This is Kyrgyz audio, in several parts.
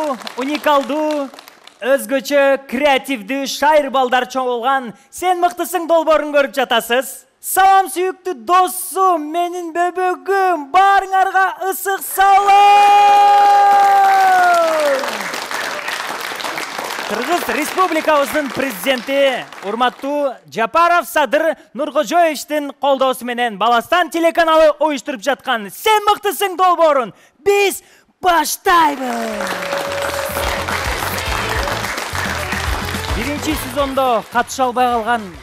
бул уникалдуу, өзгөчө креативдүү шайыр балдар чогулган Сен мыктысың долбоорун көрүп жатасыз. Салам сүйүктүү досум, менин бөбөгүм, баарыңарга ысык салам! Кыргыз Республикабыздын президенти урматтуу Жапаров Садыр Нуркожоевичтин колдоосу менен Баластан телеканалы уюштуруп жаткан Сен мыктысың долбоорун биз баштайбыз. Биринчи сезондо катыша албай калган,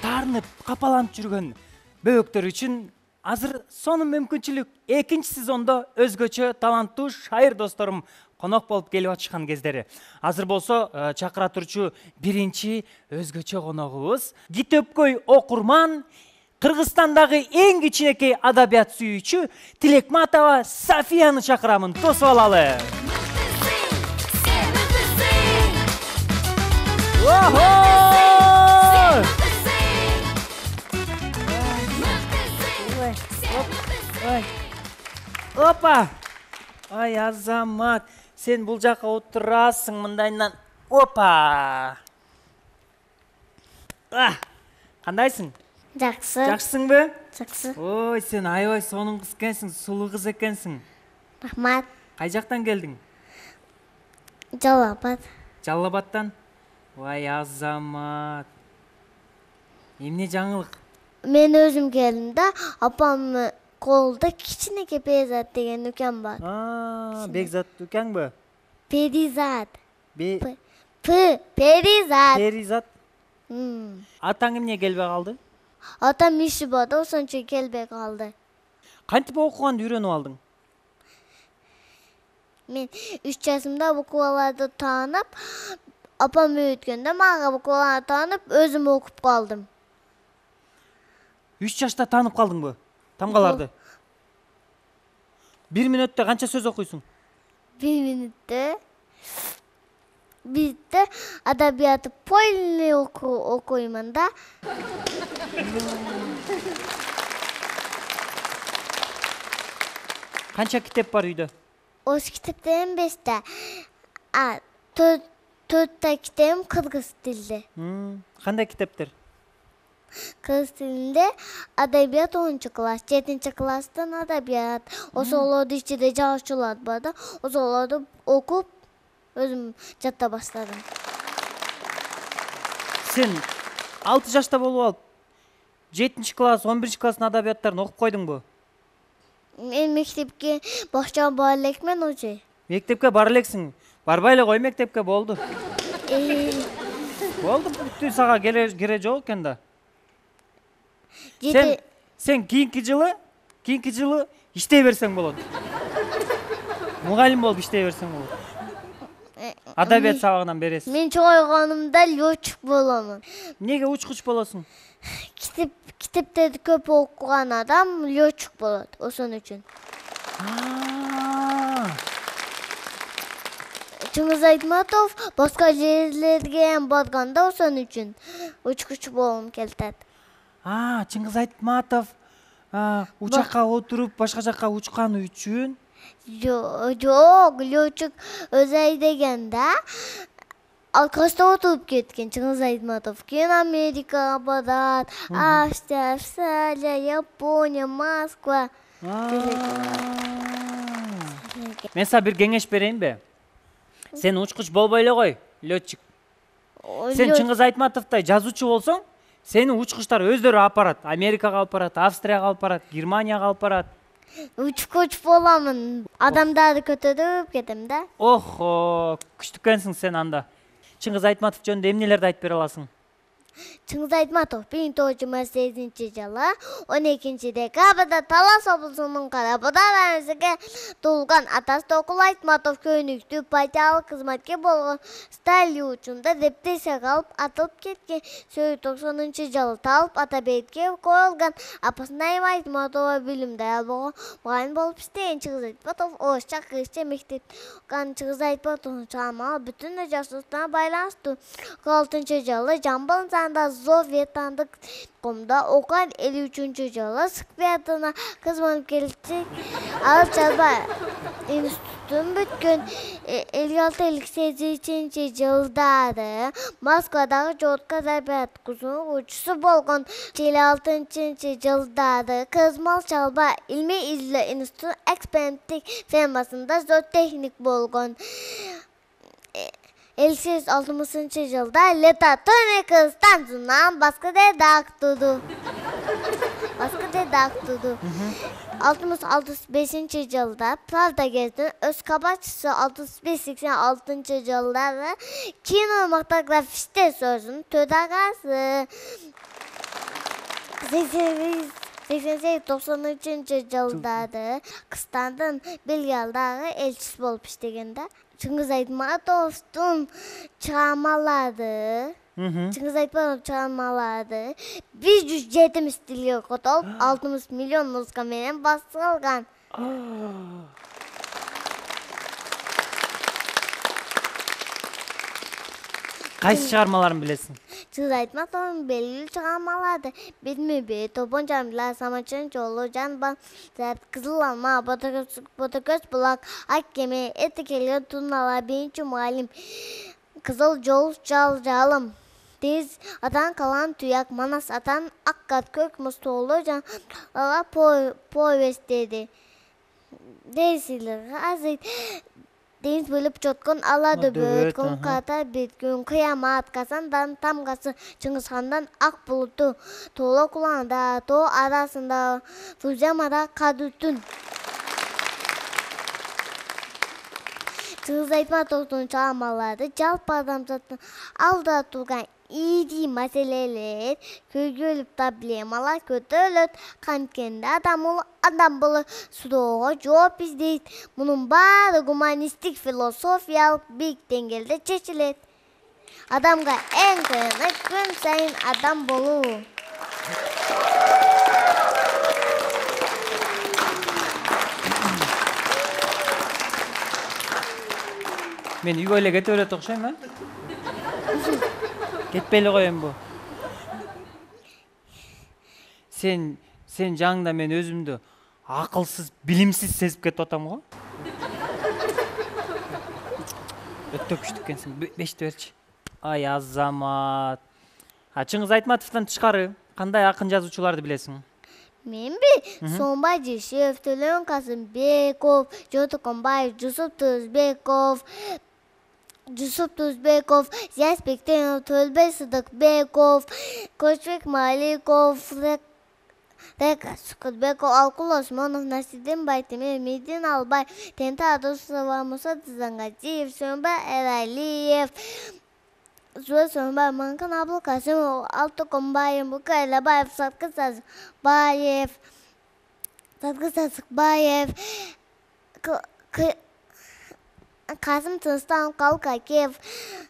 таарынып, капаланып жүргөн бөбөктөр үчүн азыр сонун мүмкүнчүлүк. Экинчи сезондо өзгөчө таланттуу шайыр досторум конок болуп келип атышкан кездери. Азыр болсо чакыра турчу биринчи өзгөчө коногубуз Китөпкөй окурман, Кыргызстандагы эң кичинекей адабият сүйүүчү Тилекматова Софияны чакырамын. Тосуп алалы. Опа! Ай, Азамат, сен бул жака отурасың мындайынан. Опа! Кандайсың? Жакшы. Жакшысыңбы? Жакшы. Ой, сен аябай сонун кыз экенсиң, сулуу кыз экенсиң. Рахмат. Кай жактан келдиң? Жалал Абад. Жалал Абадтан? Ой, Азамат. Эмне жаңылык? Мен өзүм келдим да, апам колдо кичинекей Перизат деген үкем бар. Бекзат үкеңби? Перизат. Перизат. Перизат. Атаң эмне келбей калды? Атам иши бар да, ошончо келбей калды. Кантип окуганды үйрөнүп алдың? Мен 3 жашымда букваларды таанып, апам үйрөткөндө мага букваларды таанып, өзүм окуп калдым. 3 жашта таанып калдыңбы? Тамгаларды. 1 мүнөттө канча сөз окуйсуң? 1 мүнөттө бизде адабиятты полный окуймун да. Канча китеп бар үйдө? Ош китептерим 5 4 китебим кыргыз тилде. Кандай китептер? Кыргыз тилинде адабият 10-класс, 7-класстан адабият. Ошолорду ичинде жазуучулар бар да, ошолорду окуп өзүм жата баштадым. Сен 6 жашта болуп алып 7-класс, 11-класстын адабияттарын окуп койдуңбу? Мен мектепке бакчага бара элекмин уже. Мектепке бара элексиң. Барбай эле кой мектепке, болду. Болду, бүттү, сага кере жок экен да. Сен кийинки жылы иштей берсең болот. Мугалим болуп иштей берсең болот. Адабият сабагынан бересиз. Мен чогойгонумда лётчик боломун. Эмнеге учкуч болосуң? Китептерди көп окуган адам лётчик болот, ошон үчүн. Чыңгыз Айтматов башка жерлерге барганда ошон үчүн учкуч болгум келет. Чыңгыз Айтматов учакка отуруп башка жакка учканы үчүн? Жок, лётчик өзү айдеген да. Алкашта отуруп кеткен Чыңгыз Айтматов. Кийин Америкага барат, Австрия, Япония, Москва. Мен сага бир кеңеш берейинби? Сен учкуч болбой эле кой, лётчик. Сен Чыңгыз Айтматовдой жазуучу болсоң, сени учкучтар өздөрү алып барат. Америкага алып барат, Австрияга алып барат, Германияга алып барат. Учкуч боламын. Адамдарды көтөрүп кетем да. Охо, күчтүү экенсиң сен анда. Чыңгыз Айтматов жөнүндө эмнелерди айтып бере аласың? Чыңгыз Айтматов 1928-жылы 12-декабрда Талас облусунун Карабуда районунда туулган. Атасы Токул Айтматов көнүктүү партиялык кызматкер болгон. Сталин учунда репрессияга алып атылып кеткен. 1990-жылы талып Атабекке коюлган. Апасы Найма Айтматова билимдүү аял болгон. Мугалим болуп иштеген Чыңгыз Айтматов орусча кыргызча мектеп окуган. Чыңгыз Айтматовдун чыгармалары бүтүндөй жашоосуна байланыштуу. 46-жылы Жамбыл Зоветандык комда окуган. 53-жылы Сквертына кызматкерлик алып жазба институт ұрыстың бүткөн 56-58 жылдары Москвадағы жотқа зарбаткусунун учусу болгон 56 жылдары Кызмал Чалба илмий изилөө институтунун эксперименттик фермасында зоотехник болгон. 1960 жылда Летотоник станциясынан башка редакторду. 1965 жылда Правда газетинин өз кабарчысы, 65-86 жылдары кинематографисттер союзунун төрагасы. 88-90 жылдары Кыргызстандын Белградагы элчиси болуп иштеген да. Чыңгыз Айтматовдун чыгармалары 170 тилге котолуп 60 миллион нуска менен басылган. Кайсы чыгармаларын билесиң? Чыңгыз Айтматовдун белгилүү чыгармалары Бетме-бет, Топон Жамила, Самачын жолу, Жанбан, Кызыл алма, Ботокөз булак, Ак кеме, Эти келген турналар, Биринчи мугалим, Кызыл жол, Жалым, Тез атан калан туяк, Манас атан Аккат, Көк муз тоолу, Жанга повесттери. Дейсилер, азыр деңиз бөлүп жоткон ала дөбөт, Ката беткөн, Кыямат, Казандан тамгасы, Чыңгызхандан ак булуту, Тооло куланда, тоо арасында, Фузямада кадүтүн. Чыңгыз Айтматовдун чыгармалары жалпы адамзаттын алдыда турган ири маселелер, көйгөйлүк проблемалар көтөрүлөт. Канткенде адам болуп суроого жооп издейт. Мунун баары гуманисттик философиялык бийик деңгээлде чечилет. Адамга эң кыйыны күн сайын адам болуу. Мен үйгө эле кетип берет окшойм, а? Кетпей эле коеюн бу. Сен жаңында мен өзүмдү акылсыз, билимсиз сезип кетип атам го. Өтө күчтүү экенсиң. 5ти берчи. Ай Азамат. Чыңгыз Айтматовдон тышкары кандай акын жазуучуларды билесиң? Менби Сомбай Жешев, Төлөн Казымбеков, Жотоконбаев, Жусуп Тузбеков, Зияс Бектенов, Төлбай Сыдыкбеков, Көчбек Маликов, Река Сукутбеков, Алкул Осмонов, Насидин Байтемир, Медин Албай, Тента Адусова, Муса Тызангазиев, Сөнбай Эралиев, Зуэ Сөнбай, Манкан Абылкасымов, Алтыконбаев, Бука Элебаев, Саткы Сазыкбаев, Касым Тынстан, Калкакев,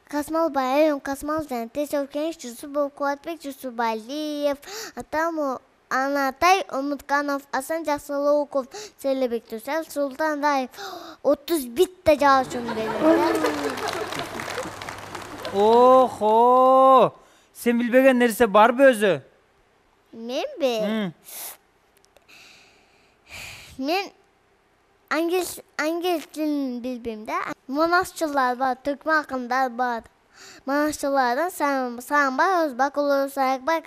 Касмал Баев, Касмал Жантесов, Кенеш Жусупов, Куатбек Жусупалиев, Атаму Анатай Умутканов, Асан Жаксылуков, Селебек Тусел, Султан Раев, 31 жазуучун берет. Охо! Сен билбеген нерсе барбы өзү? Менби? Мен ангелс тилин билбейм да. Монашчылар бар, түркмөн акындар бар. Монашчылардан Саамбай Өзбакулу, Саякбай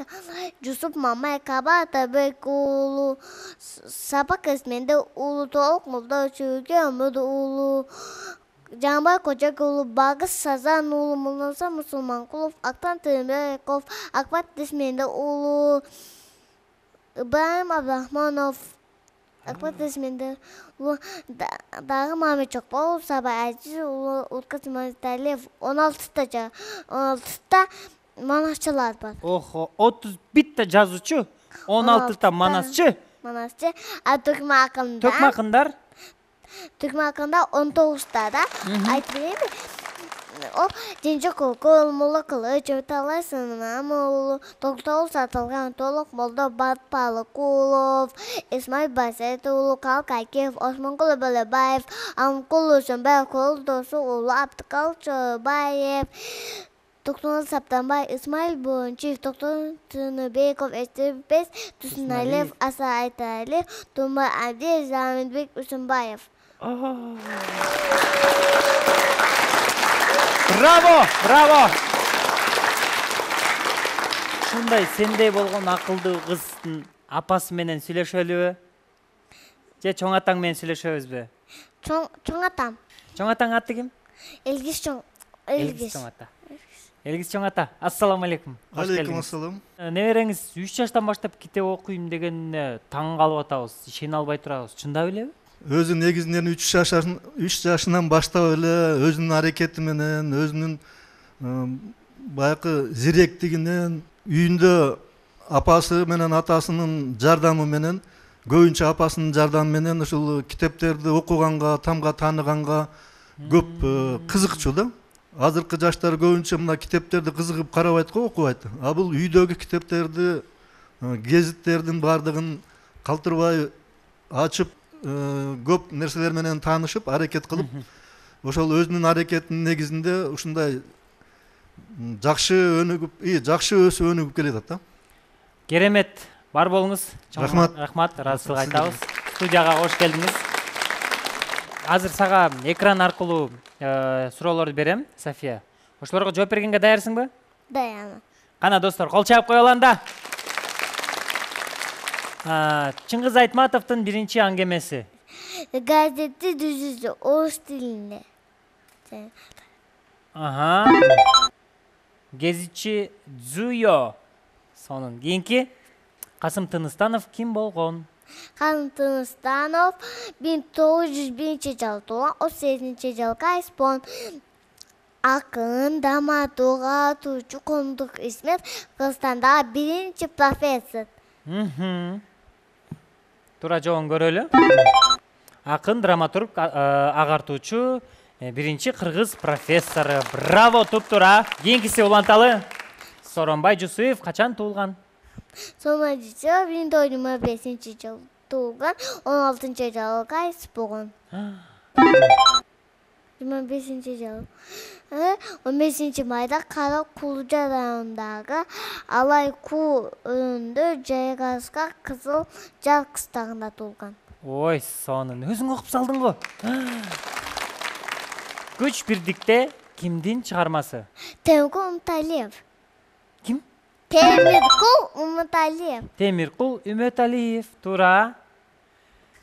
Жусуп Мамай, Каба Атабек уулу, Сапак Эсменде уулу, Толук Молдо Чүгө Өмүр уулу, Жанбай Кожок уулу, Багыс Сазан уулу, Мулнаса Мусулманкулов, Актан Тырымбеков, Акбат Эсменде уулу, Ибраим Абдрахманов, Акбат Эсменде уулу, дагы Мамед Чокболов, Сабай Азиз уулу, Уткат Иманталиев, 16та монашчылар бар. Охо, 31 жазуучу, 16 монашчы. А түркмөн акындар? Түркмөн акындар 19 да. Айтып берейинби? О, Женжок Окул, Мулла Кылыч, Талай Сынам уулу, Токтогул Сатылган, Толук Молдо Батпалыкулов, Исмаил Басет уулу, Калкакев, Осмонкул Бөлөбаев, Амкул Өсөнбаев, Колдосу уулу, Абдыкал Чобаев, Токтогул Саптанбай, Исмаил Бончиев, Токтогул Тыныбеков, Эстебес Тусуналиев, Аса Айталиев, Тумбай Абдиев, Замирбек Үсөнбаев. Браво. Ушундай сендей болгон акылдуу кыздын апасы менен сүйлөшөлүбү? Же чоң атаң менен сүйлөшөбүзбү? Чоң атам. Чоң атаң аты ким? Элгиз чоң ата. Элгиз чоң ата. Ассаламу алейкум. Алейкум ассалам. Небереңиз 3 жаштан баштап китеп окуйм дегенине таң калып атабыз. Ишене албай турабыз. Чындап элеби? Өзү негизинен 3 жашынан баштап эле өзүнүн аракети менен, өзүнүн баягы зиректигинен, үйүндө апасы менен атасынын жардамы менен, көбүнчө апасынын жардамы менен ушул китептерди окуганга, тамга тааныганга көп кызыкчу да. Азыркы жаштар көбүнчө мына китептерди кызыгып карабайт го, окубайт. А бул үйдөгү китептерди, гезиттердин бардыгын калтырбай ачып, көп нерселер менен таанышып, аракет кылып, ошол өзүнүн аракетинин негизинде ушундай жакшы өсүп өнүгүп келатат да. Керемет. Бар болуңуз. Рахмат. Ыраазычылык айтабыз. Студияга кош келдиңиз. Азыр сага экран аркылуу суроолорду берем, София. Ошолорго жооп бергенге даярсыңбы? Даярмын. Кана достор, кол чаап коелу анда. Чыңгыз Айтматовдун биринчи аңгемеси. Газетти түзүүсү орус тилинде. Гезитчи Дзуйо. Сонун кийинки Касым Тыныстанов ким болгон? Касым Тыныстанов 1901-жылы туулган, 38-жылы кайспон. Акын, драматург, атуучу, коомдук измет, Кыргызстандагы биринчи профессор. Туура жообун көрөлү. Акын, драматург, агартуучу, биринчи кыргыз профессору. Браво, туп-туура. Кийинкиси уланталы. Сооронбай Жусуев качан туулган? Сооронбай Жусуев 1925-жылы туулган, 16-жылы кайсы болгон. 25-жылы 15-майда Кара Кулжа районундагы Алай-Ку өрүндө жайгашкан Кызыл Жар кыстагында туулган. Ой, сонун. Өзүң окуп салдың го. Күч бирдикте кимдин чыгармасы? Темиркул Уматалиев. Ким? Темиркул Уматалиев. Темиркул Уматалиев. Туура.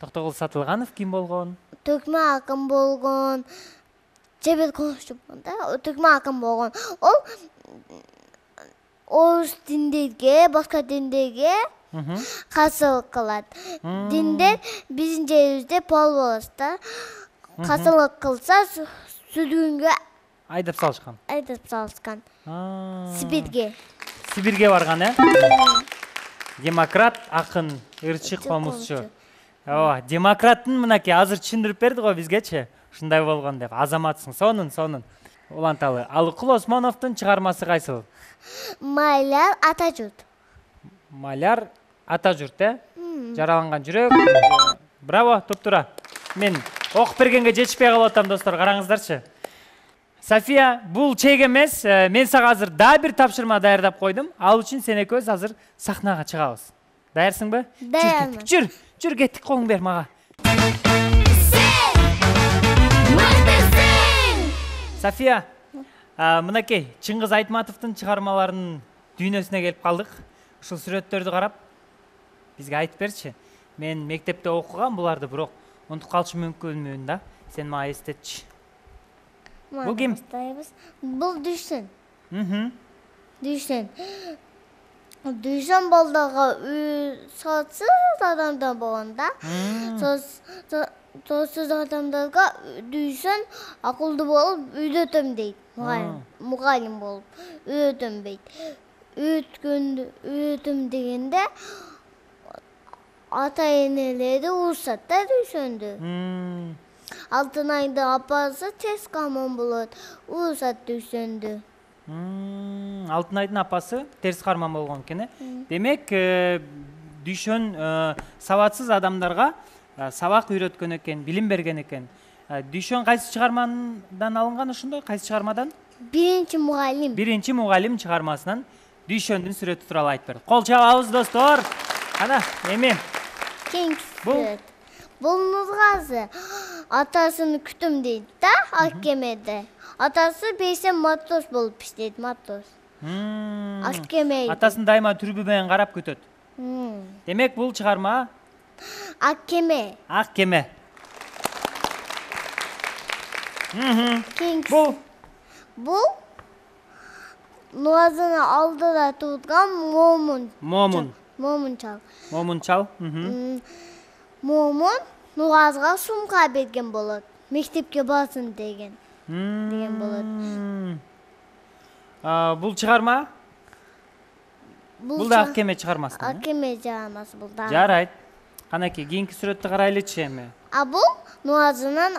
Токтогул Сатылганов ким болгон? Төкмө акын болгон. Жебет конuşчу да, төкмө акын болгон. Ол орус диндерге, башка диндерге каршылык кылат. Диндер биздин жерибизде пол болот да. Каршылык кылса сүргүнгө Айдап салышкан. Сибирге барган, Демократ, акын, ырчык, комузчу. Демократтын мынакей азыр түшүндүрүп берди го бизгечи. Ушундай болгон деп. Азаматсың. Сонун. Уланталы. Алыкул Осмоновдун чыгармасы кайсыл? Маляр Атажурт. Маляр Атажурт, Жараланган жүрөк. Браво, туп-туура. Мен окуп бергенге жетишпей калып атам, достор, караңыздарчы. София, бул чек эмес. Мен сага азыр дагы бир тапшырма даярдап койдум. Ал үчүн сен экөөбүз азыр сахнага чыгабыз. Даярсыңбы? Даярмын. Жүр, кеттик, колуңду бер мага. София, мынакей, Чыңгыз Айтматовдун чыгармаларынын дүйнөсүнө келип калдык. Ушул сүрөттөрдү карап, бизге айтып берчи. Мен мектепте окугам буларды, бирок унутуп калышы мүмкүнмүн да. Сен мага эстетчи. Бул ким? Бул Дүйшөн. Дүйшөн балдага саатсыз адамдар болгон да. Саатсыз адамдарга Дүйшөн акылдуу болуп үйрөтөм дейт. Мугалим болуп үйрөтөм дейт. Үйрөтөм дегенде ата-энелери урушат да Дүйшөндү. Алтынайдын апасы тез карман болот, урушат Дүйшөндү. Алтынайдын апасы терс карман болгон экен, Демек, Дүйшөн сабатсыз адамдарга сабак үйрөткөн экен, билим берген экен. Дүйшөн кайсы чыгармадан алынган ошондо? Кайсы чыгармадан? Биринчи мугалим. Биринчи мугалим чыгармасынан Дүйшөндүн сүрөтү тууралуу айтып берди. Кол чабабыз, достор. Кана, эми. Кеңки сүрөт. Бул Нургазы. атасын күтүм дейт да, ак кемеде. Атасы бейсен матрос болуп иштейт, матрос. Ак кеме. Атасын дайыма түрбү менен карап күтөт. Демек бул чыгарма Ак кеме. ак кеме. Бул Нуазыны алдыда турган Момун чал. Момун Нуазга сумка берген болот. Мектепке барсын деген болот. Бул чыгарма? Бул да ак кеме чыгармасы. Ак кеме чыгармасы бул да. Жарайт. Канакей, кийинки сүрөттү карайлычы эми. Бул Нуазынын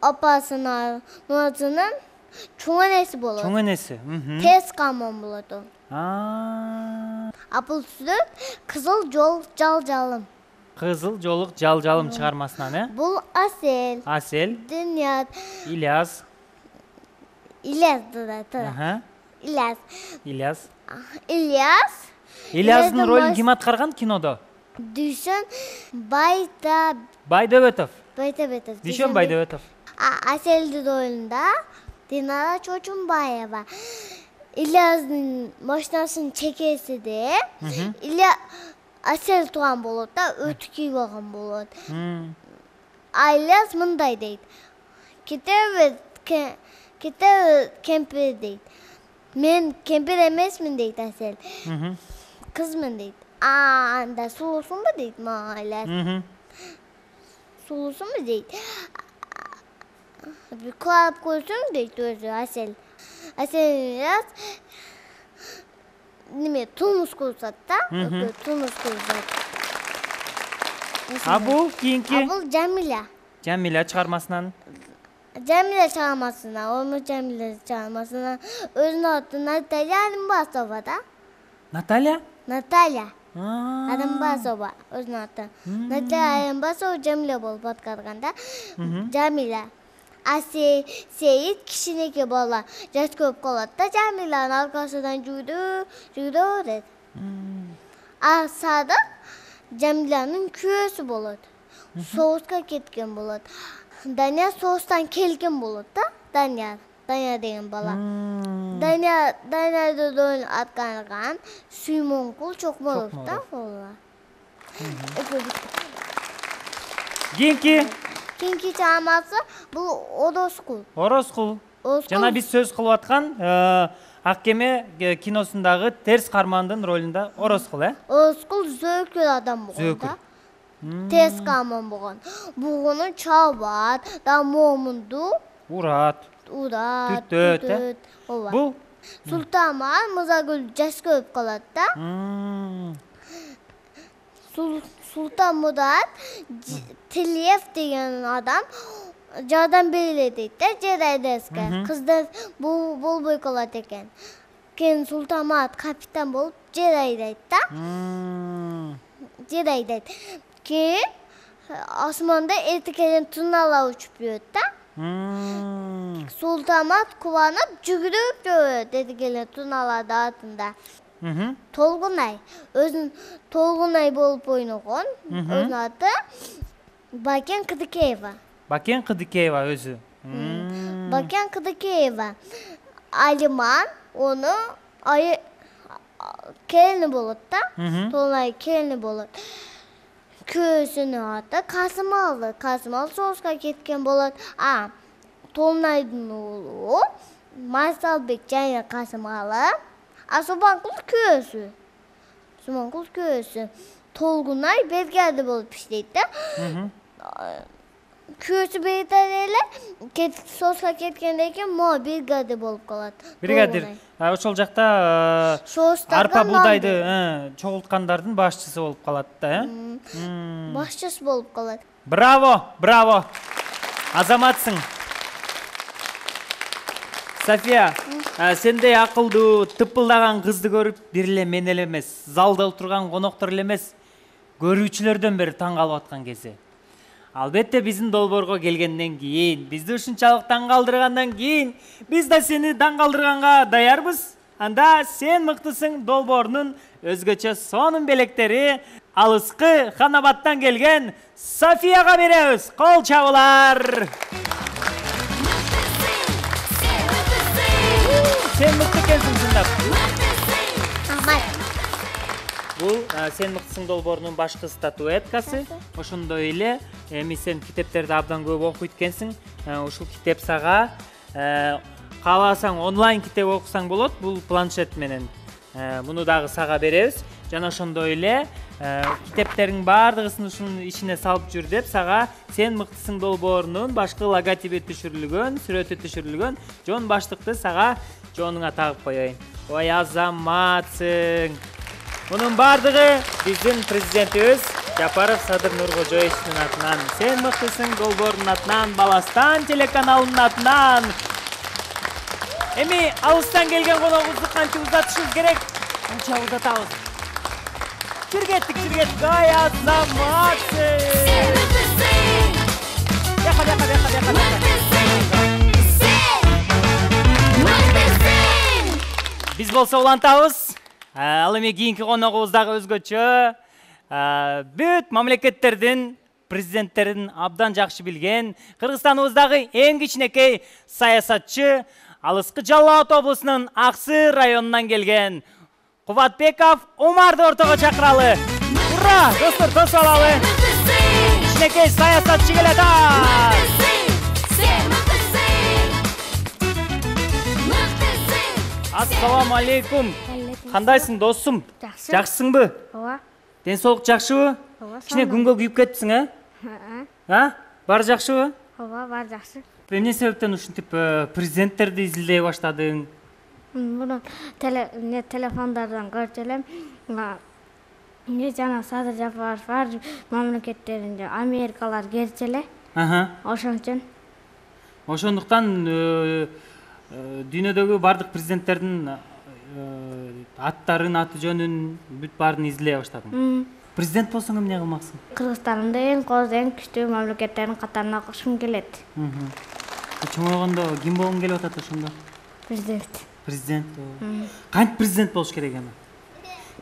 апасына, Нуазынын чоң энеси болот. Чоң энеси. Тез камон болот ол. Бул сүрөт Кызыл жол жал-жалым. Кызыл жолук жал-жалым чыгармасынан, э? Бул Асел. Асел. Динят. Ильяс. Ильястын ролун ким аткарган кинодо? Дүйшөн Байдөбөтов. Дүйшөн Байдөбөтов. Аселдин ролунда Динара Чочумбаева. Ильястын машинасын чекесиде Асел турган болот да, өтү кийип алган болот. Ильяс мындай дейт. Кете кемпир дейт. Мен кемпир эмесмин дейт Асел. Кызмын дейт. Анда сулуусунбу дейт Ильяс. Сулуусунбу дейт. Кылап көрсөң дейт өзү Асел. Ильяс тумуз курсат да, тумуз курсат. Бул кийинки? Бул Жамиля. Жамиля чыгармасынан. Жамиля чыгармасынан өзүнүн аты Наталья Алимбасова да. Наталья? Наталья Алимбасова өзүнүн аты. Наталья Алимбасова Жамиля болуп аткарган да. Жамиля. Сейит кичинекей бала жаш көп калат да, Жамиланын аркасынан жүрдү дейт. Садык Жамиланын күйөөсү болот. Соғышқа кеткен болот. Данияр соғыштан келген болот да. Данияр деген бала. Даниярды ролун аткарган Сүймөнкул Чокморов да. Кийинки чыгармасы бул Ороскул. Жана биз сөз кылып аткан Ак кеме киносундагы терс кармандын ролунда Ороскул, э? Ороскул зөөкүр адам болгон да. Терс карман болгон. Бугуну чабат, да Момунду урат. Түртөт. Бул Султанман Мырзагүл жаш көрүп калат да. Султан Мурат Тилиев деген адам жардам бериле дейт да Жерайдеске. Кыздар болбой калат экен. Кен Султанмурат капитан болуп жер айдайт да. Кийин асманда эртекелен туналар учуп жүрөт да. Султанмурат кубанып жүгүрүп жүрөт эртекелен туналардын артында. Толгунай Толгунай болуп ойногон. Өзүнүн аты Бакен Кыдыкеева. Бакен Кыдыкеева өзү. Бакен Кыдыкеева. Алиман ону келини болот да. Толгунай келини болот. Күйөөсүнүн аты Касымал соғышка кеткен болот. Толгунайдын уулу Майсалбек жана Касымалы. Субанкул күйөөсү. Толгунай бригада болуп иштейт да. Күйөөсү бригада эле соғышка кеткенден кийин могу бригада болуп калат. Бригадир. Ошол жакта арпа буудайды чогулткандардын башчысы болуп калат да, э? Башчысы болуп калат. Браво. Азаматсың. София, сендей акылдуу, тыпылдаган кызды көрүп, бир эле мен эле эмес, залда отурган коноктор эле эмес, көрүүчүлөрдөн бери таң калып аткан кези. Албетте биздин долбоорго келгенден кийин, бизди ушунчалык таң калтыргандан кийин, биз да сени таң калтырганга даярбыз. Анда сен мыктысың долбоорунун өзгөчө сонун белектери алыскы Ханабаттан келген Софияга беребиз. Кол чабуулар. Сен мыкты экенсиң чындап. Рахмат. Бул сен мыктысың долбоорунун башкы статуэткасы. Ошондой эле эми сен китептерди абдан көп окуйт экенсиң. Ушул китеп сага кааласаң онлайн китеп окусаң болот. Бул планшет менен. Муну дагы сага беребиз. Жана ошондой эле китептердин баардыгысын ушунун ичине салып жүр деп сага сен мыктысың долбоорунун башкы логотипи түшүрүлгөн, сүрөтү түшүрүлгөн жон баштыкты сага жонуңа тагып коеюн. Ой азаматсың. Мунун баардыгы биздин президентибиз Жапаров Садыр Нуркожоевичтин атынан, сен мыктысың долбоорунун атынан, Баластан телеканалынын атынан. Эми алыстан келген коногубузду кантип узатышыбыз керек? Канча узатабыз? Жүр кеттик. Ай азаматсың. Биз болсо улантабыз. Ал эми кийинки коногубуз дагы өзгөчө. Бүт мамлекеттердин президенттерин абдан жакшы билген, Кыргызстаныбыздагы эң кичинекей саясатчы, Алыскы Жалал Абад облусунун Аксы районунан келген Кубатбеков Умарды ортого чакыралы. Ура! Достор, тосуп алалы. Кичинекей саясатчы келет. Ассаламу алейкум. Кандайсың досум? Жакшы. Жакшысыңбы? Ооба. Ден соолук жакшыбы? Ооба. Кичине күнгө күйүп кетипсиң, Баары жакшыбы? Ооба, баары жакшы. Эмне себептен ушинтип президенттерди изилдей баштадың? Муну телефондардан көрчү элем. Жана Садыр Жапаров бар мамлекеттеринде Америкалар келчү эле. Ошон үчүн. Ошондуктан дүйнөдөгү бардык президенттердин аттарын, аты жөнүн бүт баарын изилдей баштадың. Президент болсоң эмне кылмаксың? Кыргызстандын эң кооз, эң күчтүү мамлекеттердин катарына кошкум келет. Чоңойгондо ким болгуң келип атат ошондо? Президент. Президент. Кантип президент болуш керек эми?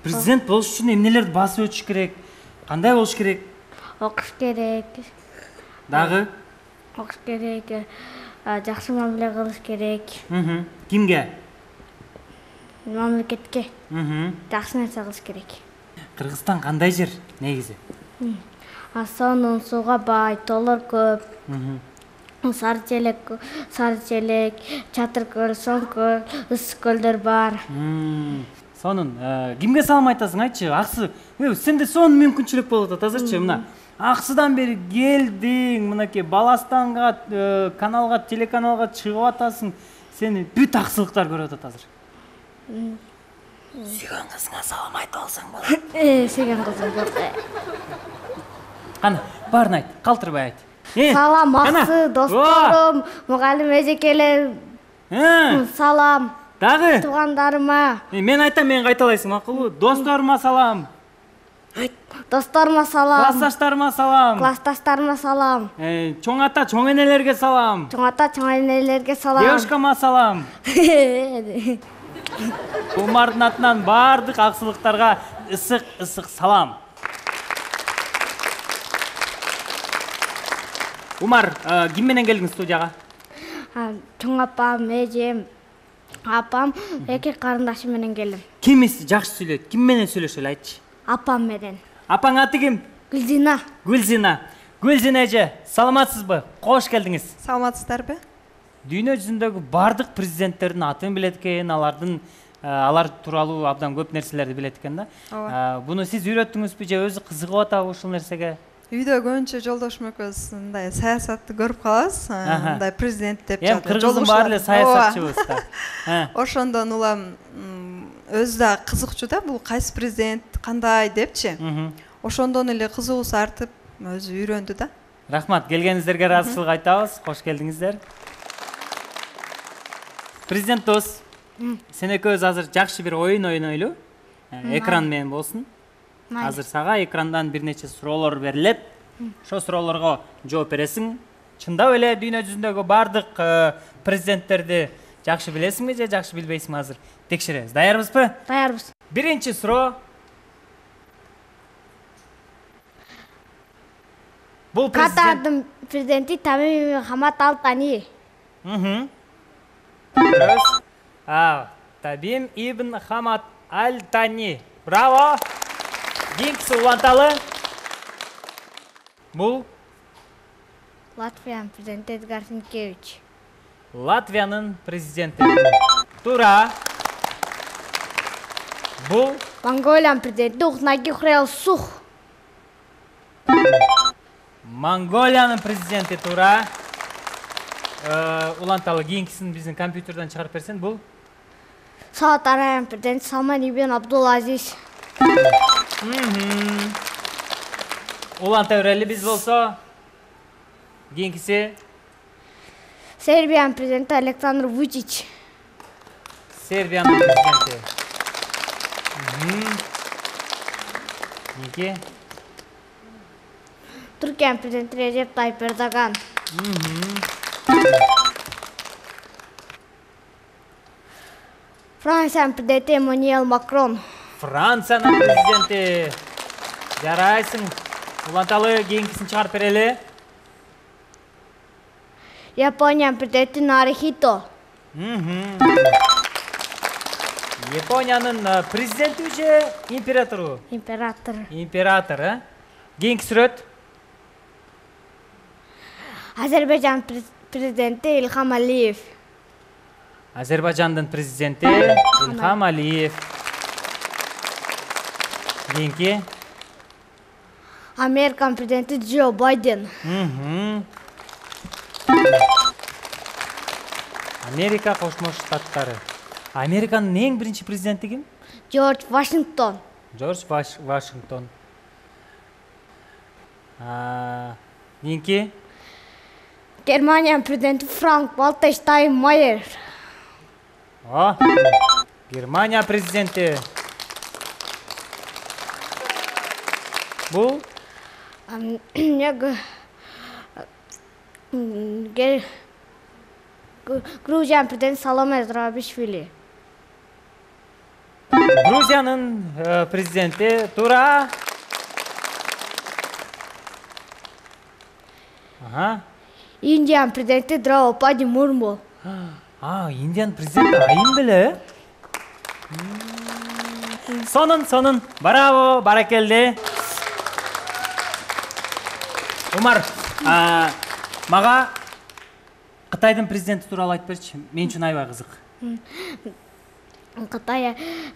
Президент болуш үчүн эмнелерди басып өтүш керек? Кандай болуш керек? Окуш керек. Дагы? Окуш керек. Жакшы мамиле кылыш керек. Кимге? Мамлекетке. Жакшы нерсе кылыш керек. Кыргызстан кандай жер негизи? Сонун, сууга бай, тоолор көп. Сары челек, Чатыр көл, Соң көл, Ысык көлдөр бар. Сонун. Кимге салам айтасың, айтчы? Аксы, сенде сонун мүмкүнчүлүк болуп атат азырчы. Мына Аксыдан бери келдиң, мынакей Баластанга, каналга, телеканалга чыгып атасың. Сени бүт аксылыктар көрүп атат азыр. Сүйгөн кызыңа салам айтып алсаң болот. Сүйгөн кызым жок. Кана, баарын айт, калтырбай айт. Салам аксы досторум, мугалим эжекелер. Салам. Дагы? Туугандарыма. Мен айтам, мен кайталайсың, макулбу? Досторума салам. Досторума салам. Классташтарыма салам. Классташтарыма салам. Чоң ата, чоң энелерге салам. Чоң ата, чоң энелерге салам. Девушкама салам. Умардын атынан баардык аксылыктарга ысык салам. Умар, ким менен келдиң студияга? Чоң апам, эжем, апам, эки карындашым менен келдим. Кимиси жакшы сүйлөйт? Ким менен сүйлөшөлү айтчы? Апам менен. Апаң аты ким? Гүлзина. Гүлзина эже, саламатсызбы? Кош келдиңиз. Саламатсыздарбы? Дүйнө жүзүндөгү бардык президенттердин атын билет экен, алар тууралуу абдан көп нерселерди билет экен да. Буну сиз үйрөттүңүзбү же өзү кызыгып атабы ушул нерсеге? Үйдө көбүнчө жолдошум экөөбүз мындай саясатты көрүп калабыз. Мындай президент деп жатат. Эми Кыргыздын баары эле саясатчыбыз да. Ошондон улам өзү да кызыкчу да, бул кайсы президент, кандай депчи. Ошондон эле кызыгуусу артып, өзү үйрөндү да. Рахмат, келгениңиздерге ыраазычылык айтабыз. Кош келдиңиздер. Президент дос, сен экөөбүз азыр жакшы бир оюн ойнойлу. Экран менен болсун. Азыр сага экрандан бир нече суроолор берилет. Ошо суроолорго жооп бересиң. Чындап эле дүйнө жүзүндөгү бардык президенттерди жакшы билесиңби же жакшы билбейсиңби азыр? Текшеребиз. Даярбызбы? Даярбыз. Биринчи суроо. Бул президент. Катардын президенти Тамим Хамат Ал Тани. Табим ибн Хамат Ал Тани. Браво. Кийинкиси уланталы. Бул Латвиянын президенти Эдгар Синкевич. Латвиянын президенти. Туура. Бул Монголиянын президенти Ухнаги Хурэлсух. Монголиянын президенти. Туура. Уланталы кийинкисин биздин компьютерден чыгарып берсең. Бул Сауд Арабиянын президенти Салман ибн Абдул Азиз. уланта берели биз болсо. Кийинкиси Сербиянын президенти Александр Вучич. Сербиянын президенти. Кийинки Түркиянын президенти Режеп Тайип Эрдоган. Франциянын президенти Эммануэль Макрон. Франциянын президенти. Жарайсың. Уланталы кийинкисин чыгарып берели. Япониянын президенти Нарухито. Япониянын президенти же императору? Император. Император, Кийинки сүрөт. Азербайжан президенти Илхам Алиев. Азербайжандын президенти Илхам Алиев. Кийинки Американын президенти Джо Байден. Америка Кошмо Штаттары. Американын эң биринчи президенти ким? Джордж Вашингтон. Джордж Вашингтон. Кийинки Германиянын президенти Франк Вальтер Штайнмайер. Германия президенти. Бул Грузиянын президенти Саломе Зурабишвили. Грузиянын президенти. Туура. Индиянын президенти Драупади Мурму. Индиянын президенти айым беле. Сонун. Браво, баракелде. Умар, мага Кытайдын президенти тууралуу айтып берчи. Мен үчүн аябай кызык.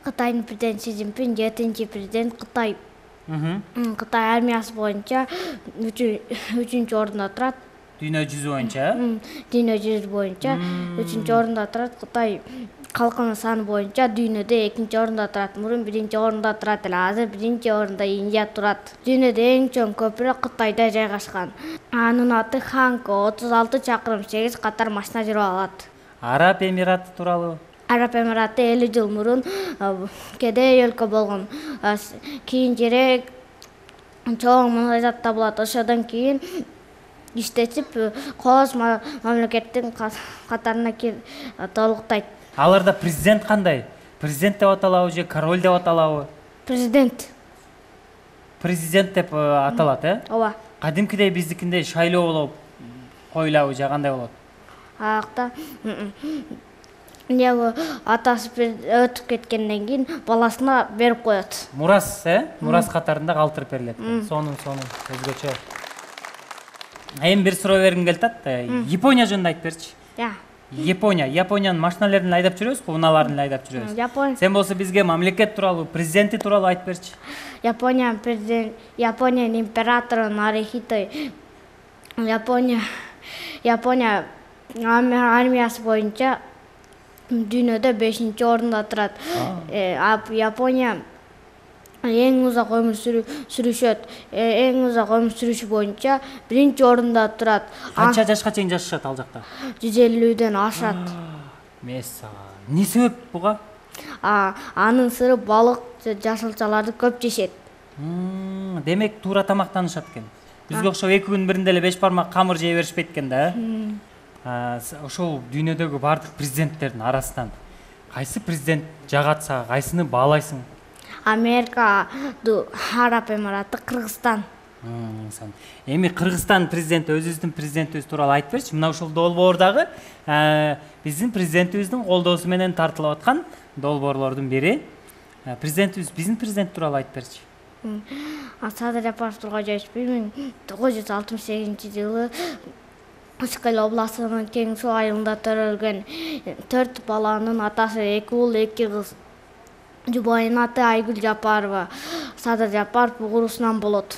Кытайдын президенти Си Цзиньпин 7-чи президент Кытай. Кытай армиясы боюнча 3-чү орунда турат. Дүйнө жүзү боюнча. Дүйнө жүзү боюнча 3-чү орунда турат. Кытай калкынын саны боюнча дүйнөдө 2-чи орунда турат. Мурун 1-чи орунда турат эле. Азыр 1-чи орунда Индия турат. Дүйнөдө эң чоң көпүрө Кытайда жайгашкан. Анын аты Ханко. 36 чакырым 8 катар машина жүрүп алат. Араб Эмираты тууралуу. Араб Эмираты 50 жыл мурун кедей өлкө болгон. Кийин жери чоң мунайзат табылат. Ошодон кийин иштетип кооз мамлекеттин катарына толуктайт. Аларда президент кандай? Президент деп аталабы же король деп аталабы? Президент. Президент деп аталат, Ооба. Кадимкидей биздикиндей шайлоо болуп коюлабы же кандай болот? Акта атасы өтүп кеткенден кийин баласына берип коет. Мурас, Мурас катарында калтырып берилет. Сонун, өзгөчө. Эми бир суроо бергим келип атат. Япония жөнүндө айтып берчи. Япониянын машиналарын айдап жүрөбүзбү, унааларын айдап жүрөбүз. Сен болсо бизге мамлекет тууралуу, президенти тууралуу айтып берчи. Япониянын императору Нарухито. Япония армиясы боюнча дүйнөдө 5-чи орунда турат. Япония эң узак өмүр сүрүшөт. Эң узак өмүр сүрүшү боюнча 1-чи орунда турат. Канча жашка чейин жашашат ал жакта? 150ден ашат. Месса. Эмне себеп буга? Анын сыры балык, жашылчаларды көп жешет. Демек туура тамактанышат экен. Бизге окшоп 2 күн биринде эле 5 бармак камыр жей беришпейт экен да. Ошол дүйнөдөгү бардык президенттердин арасынан кайсы президент жагатса, кайсыны баалайсың? Америка, Араб Эмираты, Кыргызстан. Эми Кыргызстан президенти өзүбүздүн президентибиз тууралуу айтып берчи. Мына ушул долбоордагы биздин президентибиздин колдоосу менен тартылып аткан долбоорлордун бири. Президентибиз биздин президент тууралуу айтып берчи. Садыр Жапаров Тургайжаевич 1968-жылы Ышкал областынын Кең Суу айылында төрөлгөн 4 баланын атасы, 2 уул, 2 кыз. Жубайынын аты Айгүл Жапарова. Садыр Жапаров угурусунан болот.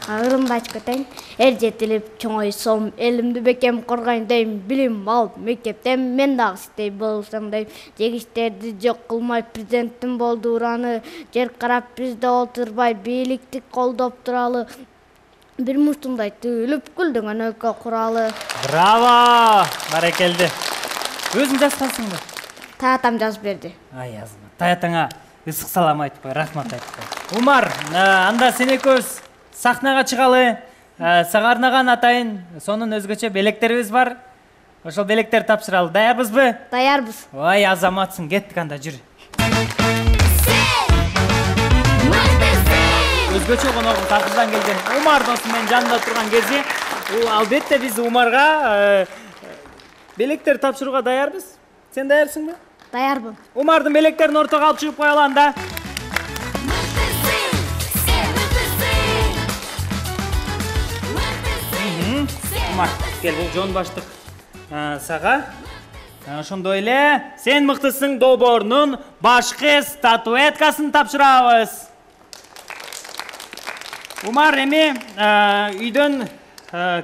Ырымды айтып кетейин. Эр жетилип чоңойсом, элимди бекем коргойн дейм, билим алып мектептен мен дагы сиздей болсом дейм. Жегиштерди жок кылмай президенттин болдураны, жер карап бизде отурбай бийликти колдоп туралы. Бир муштундай түйүлүп күлдүңөн өлкө куралы. Браво! Баракелди. Өзүң жазгансыңбы? Таятам жазып берди. Ай азма. Таятаңа ысык салам айтып кой, рахмат айтып кой. Умар, анда сен экөөбүз сахнага чыгалы. Сага арнаган атайын сонун өзгөчө белектерибиз бар. Ошол белектерди тапшыралы. Даярбызбы? Даярбыз. Ой, азаматсың, кеттик анда, жүр. Өзгөчө коногум Такырдан келген Умар досум менин жанымда турган кези, албетте биз Умарга белектерди тапшырууга даярбыз. Сен даярсыңбы? Даярбын. Умардын белектерин ортого алып чыгып коелу анда. Умар, кел, бул жон баштык сага. Ошондой эле сен мыктысың долбоорунун башкы статуэткасын тапшырабыз. Умар, эми үйдөн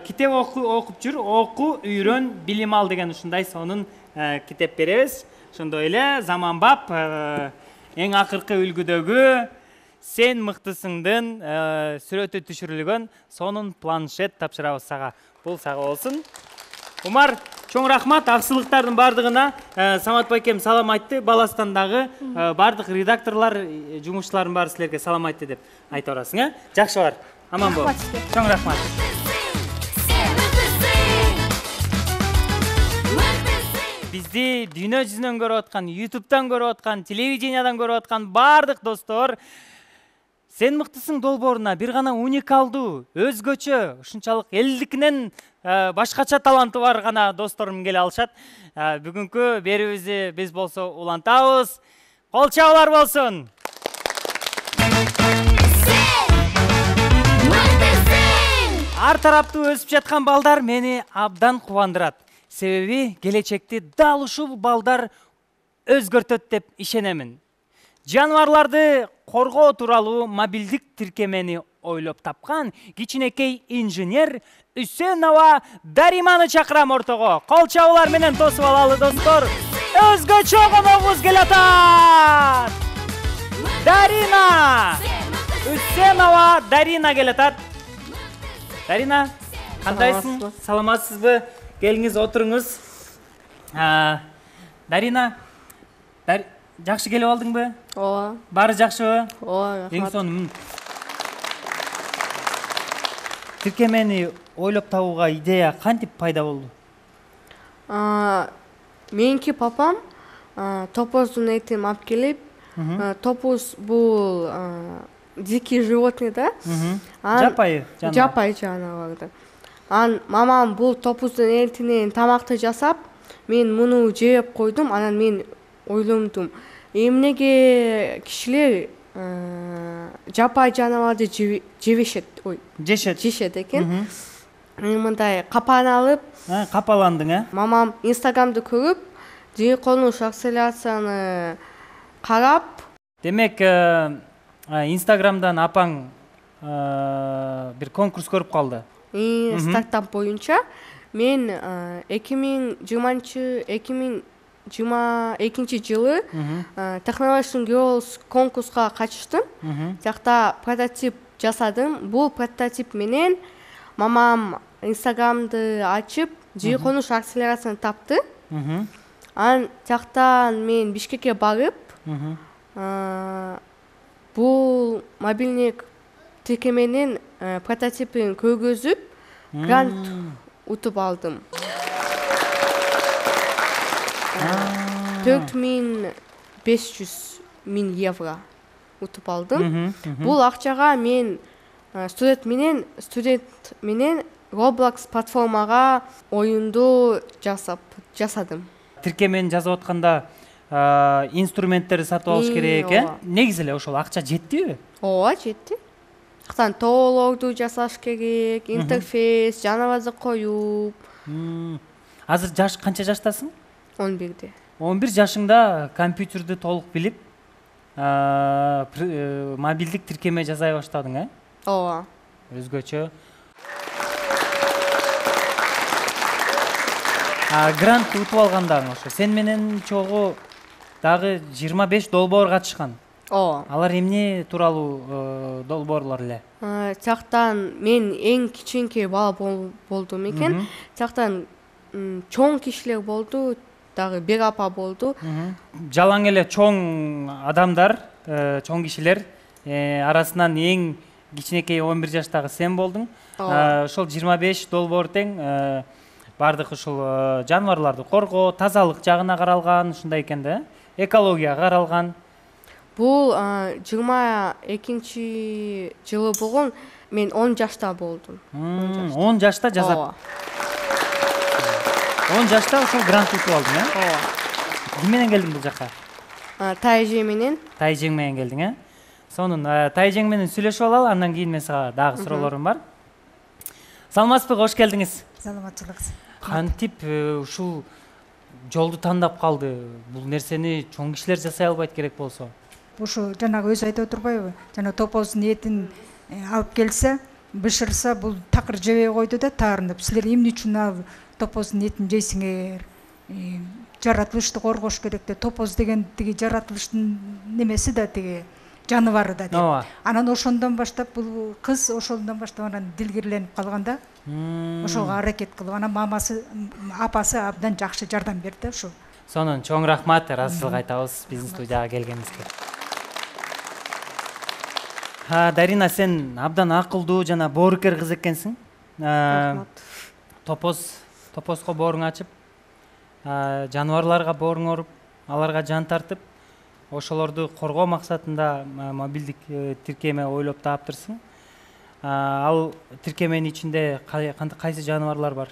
китеп окуп жүр, оку, үйрөн, билим ал деген ушундай сонун китеп беребиз. Ошондой эле заманбап эң акыркы үлгүдөгү сен мыктысыңдын сүрөтү түшүрүлгөн сонун планшет тапшырабыз сага. Бул сага болсун. Умар, чоң рахмат. Аксылыктардын бардыгына Самат байкем салам айтты. Баластандагы бардык редакторлор, жумушчулардын баары силерге салам айтты деп айта барасың, Жакшы бар. Аман бол. Чоң рахмат. Бизди дүйнө жүзүнөн көрүп аткан, YouTube'дан көрүп аткан, телевидениядан көрүп аткан бардык достор, сен мыктысың долбооруна бир гана уникалдуу, өзгөчө, ушунчалык элдикинен башкача таланты бар гана досторум келе алышат. Бүгүнкү берүүбүздү биз болсо улантабыз. Кол чабуулар болсун. Ар тараптуу өсүп жаткан балдар мени абдан кубандырат. Себеби келечекти дал ушул балдар өзгөртөт деп ишенемин. Жаныбарларды коргоо тууралуу мобилдик тиркемени ойлоп тапкан кичинекей инженер Үсенова Дариманы чакырам ортого. Кол чабуулар менен тосуп алалы достор. Өзгөчө коногубуз келатат. Дарина! Үсенова Дарина келатат. Дарина, кандайсың? Саламатсызбы? Келиңиз, отуруңуз. Дарина, жакшы келип алдыңбы? Ооба. Баары жакшыбы? Ооба. Эң сонун. Тиркемени ойлоп табууга идея кантип пайда болду? Меники папам топоздун этин алып келип, топоз бул дикий животный да. Жапайы жаныбар. Жапайы жаныбар. Мамам бул топоздун этинен тамакты жасап, мен муну жеп койдум, анан мен ойломдум. Эмнеге кишилер жапайы жаныбарды жешет экен. Мындай капан алып, капаландың, Мамам Инстаграмды көрүп, жер конуш акселерацияны карап. Демек, Инстаграмдан апаң бир конкурс көрүп калды. Стартап боюнча мен 2022 жылы Technology Girls конкурска катыштым. Жакта прототип жасадым. Бул прототип менен мамам Инстаграмды ачып, жер конуш акселерацияны тапты. Анан жактан мен Бишкекке барып, бул мобилдик тиркеменин прототипин көргөзүп, грант утуп алдым. 4.500.000 евро. утуп алдым. Бул акчага мен студент менен Roblox платформага оюнду жасадым. Тиркемени жазып атканда инструменттерди сатып алыш керек, Негизи эле ошол акча жеттиби? Ооба, жетти. Тоолорду жасаш керек, интерфейс, жаныбарды коюп. Азыр канча жаштасың? 11-де. 11 жашыңда компьютерди толук билип, мобилдик тиркеме жасай баштадың, Ооба. Өзгөчө. Грант утуп алгандаң ошо. Сен менен чогуу дагы 25 долбоор катышкан. Ооба. Алар эмне тууралуу долбоорлор эле? Тияктан мен эң кичинекей бала болдум экен. Тияктан чоң кишилер болду, дагы бир апа болду. Жалаң эле чоң адамдар, чоң кишилер арасынан эң кичинекей 11 жаштагы сен болдуң. Ошол 25 долбоор тең бардык ушул жаныбарларды коргоо, тазалык жагына каралган, ушундай экен да, экологияга каралган. Бул 22 жылы болгон, мен 10 жашта болдум. 10 жашта жасап. 10 жашта ошол грант утуп алдың, Ооба. Ким менен келдиң бул жака? Тайжи менен. Тайжең менен келдиң, Сонун Тайжең менен сүйлөшүп алалы, андан кийин мен сага дагы суроолорум бар. Саламатсызбы, кош келдиңиз. Саламатчылык. Кантип ушул жолду тандап калды? Бул нерсени чоң кишилер жасай албайт керек болсо? Ушу жанагы өзү айтып отурбайбы? Жана топоздун этин алып келсе, бышырса бул такыр жебей койду да таарынып. Силер эмне үчүн ал топоздун этин жейсиңер? Жаратылышты коргош керек да. Топоз деген тиги жаратылыштын немеси да, тиги жаныбары да деп. Анан ошондон баштап бул кыз ошондон баштап анан дилгирленип калган да. Ошого аракет кылып, анан апасы абдан жакшы жардам берди ошо. Сонун, чоң рахмат, ыраазычылык айтабыз биздин студияга келгениңизге. Дарина, сен абдан акылдуу жана боорукер кыз экенсиң. Рахмат. Топозго бооруң ачып, жаныбарларга бооруң оруп, аларга жан тартып, ошолорду коргоо максатында мобилдик тиркеме ойлоп таптырсың. Ал тиркеменин ичинде кайсы жаныбарлар бар?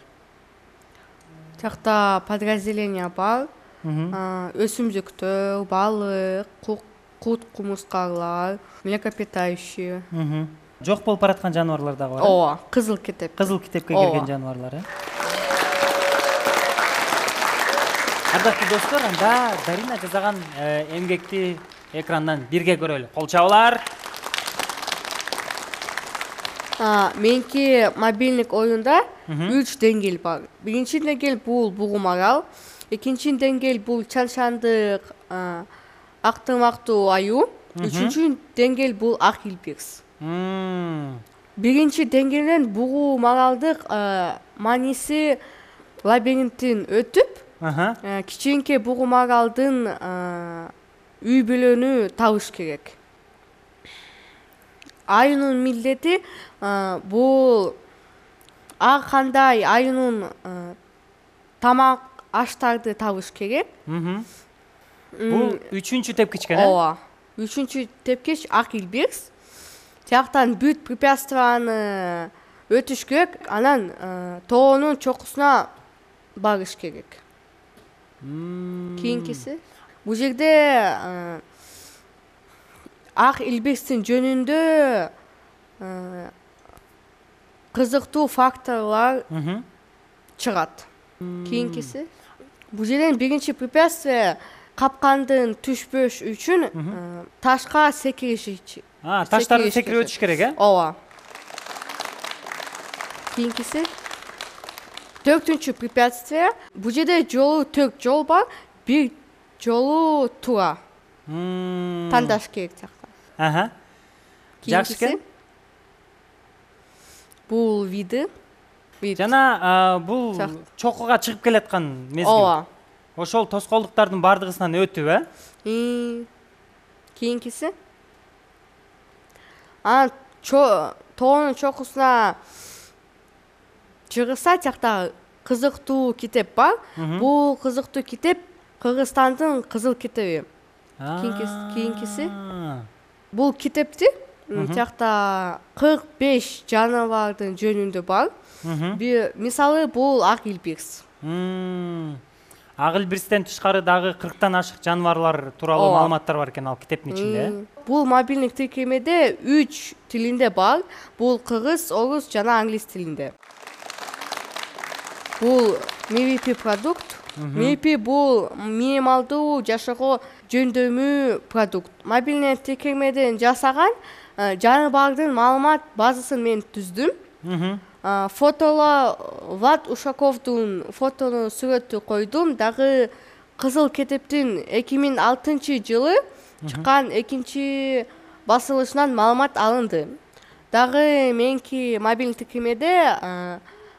Тиякта подразделение бар. Өсүмдүктөр, балык, кут кумурскалар, млекопитающие. Жок болуп бараткан жаныбарлар дагы бар. Ооба, кызыл китеп. Кызыл китепке кирген жаныбарлар. Ардактуу достор, анда Дарина жасаган эмгекти экрандан бирге көрөлү. Кол чабуулар. Меники мобилдик оюнда 3 деңгээл бар. Биринчи деңгээл бул бугум арал, экинчи деңгээл бул чан-чандык, актырмактуу аюу, үчүнчү деңгээл бул ак илбирс. Биринчи деңгээлден бугум аралдык мааниси лабиринттин өтүп, кичинекей бугум аралдын үй бүлөнү табыш керек. Аюунун милдети бул ар кандай аюунун тамак аштарды табыш керек. Бул үчүнчү тепкич экен, Ооба. Үчүнчү тепкич ак илбирс. Тияктан бүт препятствияны өтүш керек, анан тоонун чокусуна барыш керек. Кийинкиси. Бул жерде ак илбирстин жөнүндө кызыктуу факторлор чыгат. Кийинкиси. Бул жерден биринчи препятствие капкандын түшпөш үчүн ташка секириш. Таштарды секирип өтүш керек, Ооба. Кийинкиси. 4-түнчү препятствие. Бул жерде 4 жол бар, бир жолу туура. Тандаш керек тиякта. Жакшы экен. Бул виды. Жана бул чокуга чыгып келаткан мезгил. Ооба. Ошол тоскоолдуктардын бардыгысынан өтүп, Кийинкиси. Тоонун чокусуна чыгырса, тиякта кызыктуу китеп бар. Бул кызыктуу китеп Кыргызстандын кызыл китеби. Кийинкиси. бул китепти тиякта 45 жаныбардын жөнүндө бар. Мисалы бул ак илбирс. Ак илбирстен тышкары дагы 40тан ашык жаныбарлар тууралуу маалыматтар бар экен ал китептин ичинде. Бул мобилдик тиркемеде 3 тилинде бар. Бул кыргыз, орус жана англис тилинде. Бул MVP продукт. MVP бул минималдуу жашоого жөндөмүү продукт. Мобилдик тиркемеден жасаган жаныбардын маалымат базасын мен түздүм. Фотоло Влад Ушаковдун фотонун сүрөтү койдум. Дагы Кызыл китептин 2006 жылы чыккан экинчи басылышынан маалымат алынды. Дагы менки мобилдик тиркемеде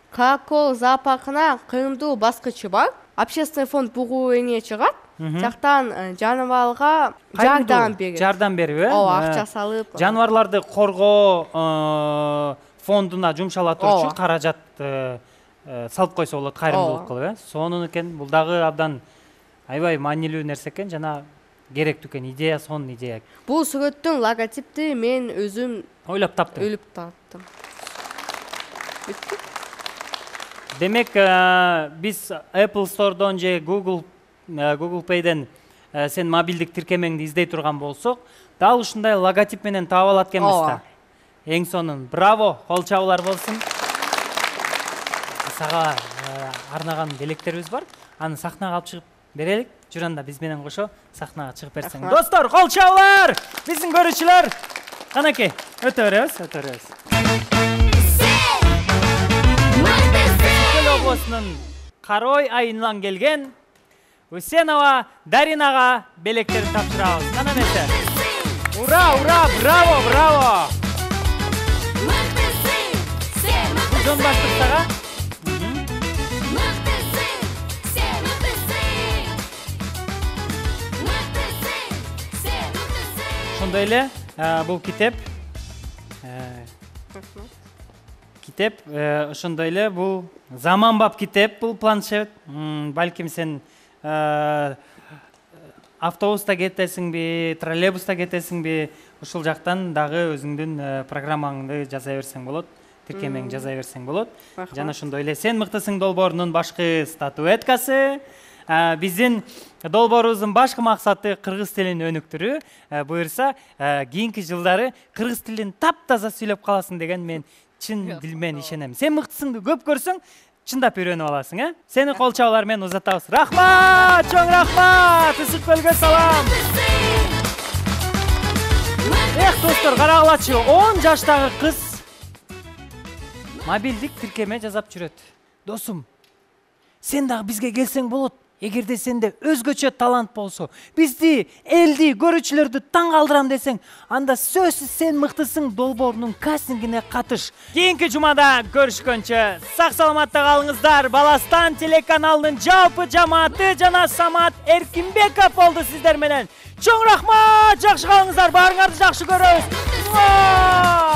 Каракол зоопаркына кыйындуу баскычы бар. Общественный фонд бугу эне чыгат. Жактан жаныбарга жардам берет. Жардам берип, Ооба, акча салып. Жаныбарларды коргоо фондуна жумшалатуу үчүн каражат салып койсо болот, кайрымдуулук кылып, Сонун экен. Бул дагы абдан аябай маанилүү нерсе экен, жана керектүү экен. Идея, сонун идея. Бул сүрөттүн логотипти мен өзүм ойлоп таптым. таптым. Демек, биз Apple Store'дон же Google Play'ден сен мобилдик тиркемеңди издей турган болсок, дал ушундай логотип менен таап алат экенбиз да. Эң сонун. Браво, кол чабуулар болсун. Сага арнаган белектерибиз бар. Аны сахнага алып чыгып берелик. Жүр анда биз менен кошо сахнага чыгып берсең. Достор, кол чабуулар! Биздин көрүүчүлөр, канакей, өтө беребиз. Областынын Карой айынан келген Усенова Даринага белектерин тапшырабыз. Кана эмесе. Ура, браво! Жон баштыктага. Ошондой эле бул китеп ошондой эле бул заманбап китеп, бул планшет. Балким сен автобуста кетесиңби, троллейбуста кетесиңби, ушул жактан дагы өзүңдүн программаңды жаза берсең болот, тиркемеңди жаза берсең болот. Жана ошондой эле Сен мыктысың долбоорунун башкы статуэткасы. Биздин долбоорубуздун башкы максаты кыргыз тилин өнүктүрүү. Буюрса, кийинки жылдары кыргыз тилин таптаза сүйлөп каласың деген мен чын дилмен ишенем. Сен мыктысыңды көп көрсөң, чындап үйрөнүп аласың, Сени кол чабуулар менен узатабыз. Рахмат, чоң рахмат. Ысык көлгө салам. Достор, карагылачы, 10 жаштагы кыз мобилдик тиркеме жасап жүрөт. Досум, сен дагы бизге келсең болот. Эгерде сенде өзгөчө талант болсо, бизди, элди, көрүүчүлөрдү таң калтырам десең, анда сөзсүз Сен мыктысың долбоорунун кастингине катыш. Кийинки жумада көрүшкөнчө сак саламатта калыңыздар. Баластан телеканалынын жалпы жамааты жана Самат Эркинбеков болду сиздер менен. Чоң рахмат, жакшы калыңыздар, баарыңарды жакшы көрөбүз.